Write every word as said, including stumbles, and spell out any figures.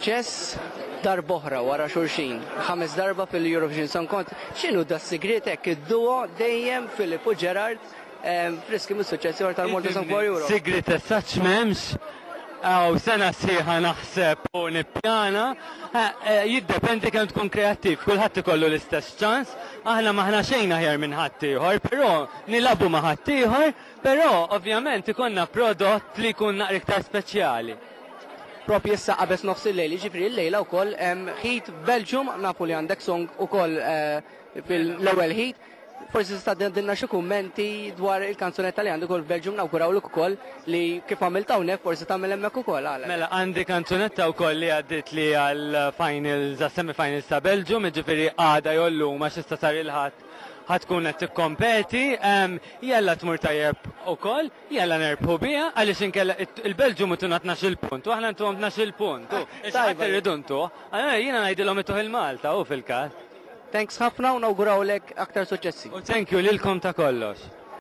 Suċċess darb'oħra wara xulxin, ħames darba fil-Eurovision Song Contest. X'inhu das-sigriet hekk id-duo dejjem Philip u Gerard friski mis-suċċess ieħor tal-Malta Song for Europe? Sigriet as such m'hemmx. Aw, sena sħiħa naħseb u nippjana, jiddependi kemm tkun kreattiv, kulħadd ikollu l-istess ċans, aħna m'aħna xejn aħjar minn ħaddieħor, però nilagħbu ma' ħaddieħor, però ovvjament ikollna prodott li jkun naqra iktar speċjali. Propju issa qabeż nofs il-lejl, jiġifieri l-lejla wkoll heat Belgium, nafu li għandek song ukoll fil-ewwel heat. Forsi tista' tgħidilna xi kummenti dwar il-kanzunetta li għandek ukoll Belgium, nawgurawlek ukoll li kif għamilt hawnhekk forsi tagħmel hemmhekk ukoll għalek. Mela għandi kanzunetta wkoll li għaddit li għal finals, għas semifinals ta' Belgium, jiġifieri għada jew llum, għax issa sar il-Ħadd, ħa tkun qed tikkompeti, jalla tmur tajjeb ukoll, jalla nerbħu biha, għaliex inkella il-Belgium ituna tnax-il punt, u aħna ntuhom tnax-il punt. Tajba. Irridu ntuh, jiena ngħidilhom ituh il-Malta u fil-każ. Thanks ħafna u nawgurawlek aktar suċċessi. U thank you lilkom ta' kollox.